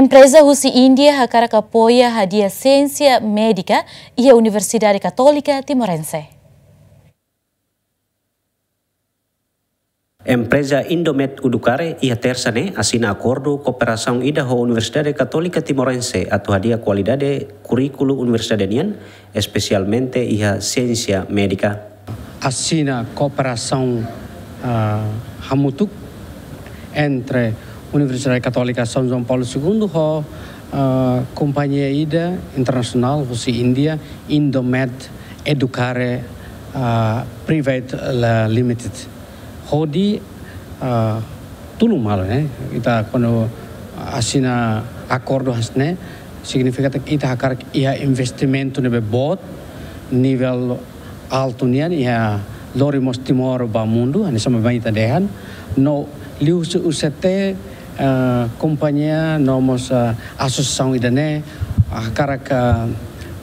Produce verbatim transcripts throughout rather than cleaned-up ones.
Empreza husi Índia hakarak apoia hadi'a siénsia médika iha Universidade Katólika Timorense. Empreza Indomed Educare iha Tersa ne'e asina akordu kooperasaun ida ho Universidade Katólika Timorense atu hadi'a kualidade kurríkulu universidade nian, espesialmente iha siénsia médika. Asina kooperasaun, ah, hamutuk entre Universidade Katólika São João Paulo Segundo ho, ah, kompañia ida internasionál husi Índia, Indomed Educare, ah, Private, ah, Limited. Hodi, ah, tulun malu, ne'e. Ita kuandu asina akordu hanesan ne'e, signifika katak ita hakarak iha investimentu ne'ebé boot, nivel altu nian, iha lori mós Timor ba mundu, hanesan mak ita dehan. No liuhusi U C T, eh, kompañia no mós, eh, asosiasaun ida-ne'e, hakarak, eh,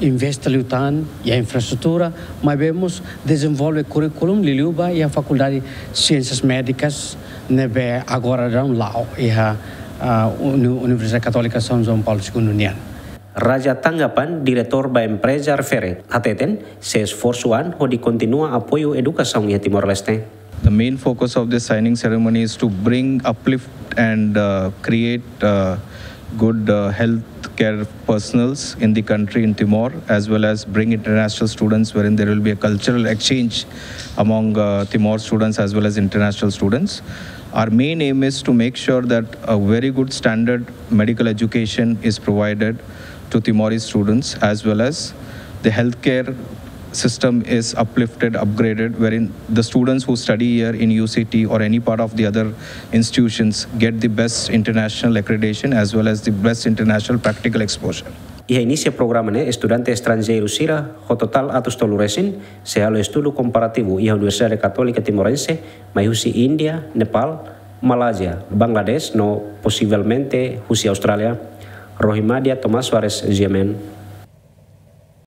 investe liután iha infraestrutura, maibé mós dezenvolve kurríkulu liuliu ba iha Fakuldade Siénsias Médikas ne'ebé agora daudaun la'o iha, eh, Uni-, Universidade Katólika São João Paulo Segundo nian. Raja Tanggapan, diretór ba empreza refere, hateten sei esforsu an hodi kontinua apoiu edukasaun iha Timor-Leste. The main focus of this signing ceremony is to bring, uplift and, uh, create, uh, good, uh, healthcare personals in the country, in Timor, as well as bring international students, wherein there will be a cultural exchange among, uh, Timor students as well as international students. Our main aim is to make sure that a very good standard medical education is provided to Timorese students, as well as the healthcare system is uplifted, upgraded, wherein the students who study here in U C T or any part of the other institutions get the best international accreditation as well as the best international practical exposure. Iha inísiu programa ne'e, estudante estranjeiru sira ho totál atus tolu resin sei halo estudu komparativu iha Universidade Katólika Timorense, mai husi Índia, Nepal, Malázia, Bangladesh no posivelmente husi Austrália. Rohimadia Tomás Soares, G M N.